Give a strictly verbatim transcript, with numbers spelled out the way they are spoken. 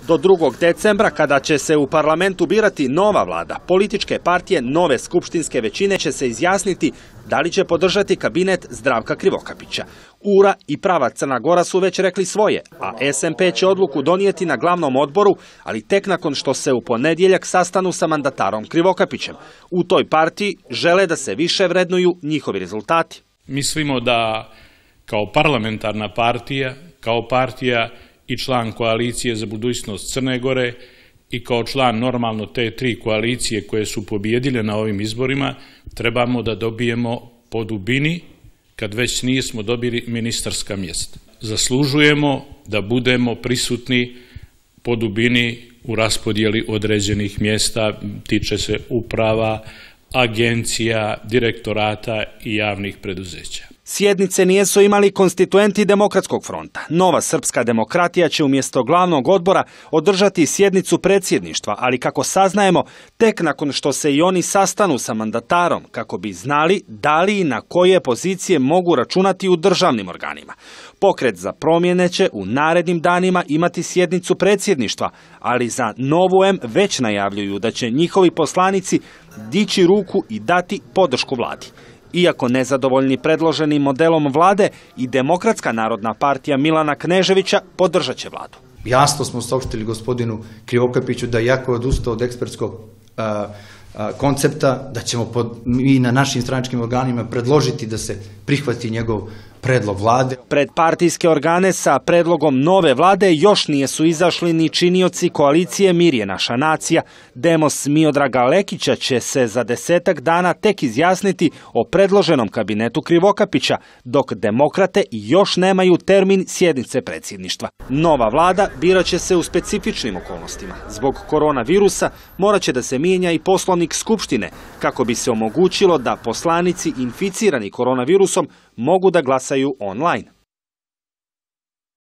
Do drugog decembra, kada će se u parlamentu birati nova vlada, političke partije nove skupštinske većine će se izjasniti da li će podržati kabinet Zdravka Krivokapića. U R A i Prava Crna Gora su već rekli svoje, a S M P će odluku donijeti na glavnom odboru, ali tek nakon što se u ponedjeljak sastanu sa mandatarom Krivokapićem. U toj partiji žele da se više vrednuju njihovi rezultati. Mislimo da kao parlamentarna partija, kao partija i član koalicije za budućnost Crne Gore i kao član normalno te tri koalicije koje su pobijedile na ovim izborima, trebamo da dobijemo po dubini, kad već nismo dobili ministarska mjesta. Zaslužujemo da budemo prisutni po dubini u raspodjeli određenih mjesta, tiče se uprava, agencija, direktorata i javnih preduzeća. Sjednice nijesu imali konstituenti Demokratskog fronta. Nova srpska demokratija će umjesto glavnog odbora održati sjednicu predsjedništva, ali kako saznajemo, tek nakon što se i oni sastanu sa mandatarom, kako bi znali da li i na koje pozicije mogu računati u državnim organima. Pokret za promjene će u narednim danima imati sjednicu predsjedništva, ali za Novu M već najavljuju da će njihovi poslanici dići ruku i dati podršku vladi. Iako nezadovoljni predloženim modelom vlade, i Demokratska narodna partija Milana Kneževića podržat će vladu. Jasno smo saopštili gospodinu Krivokapiću da iako je odustao od ekspertskog a, a, koncepta, da ćemo pod, mi na našim stranačkim organima predložiti da se prihvati njegov predlog vlade. Pred partijske organe sa predlogom nove vlade još nisu izašli ni činioci koalicije Mir je naša nacija. Demos Miodraga Lekića će se za desetak dana tek izjasniti o predloženom kabinetu Krivokapića, dok demokrate još nemaju termin sjednice predsjedništva. Nova vlada birat će se u specifičnim okolnostima. Zbog koronavirusa morat će da se mijenja i poslovnik Skupštine, kako bi se omogućilo da poslanici inficirani koronavirusom mogu da glasaju online.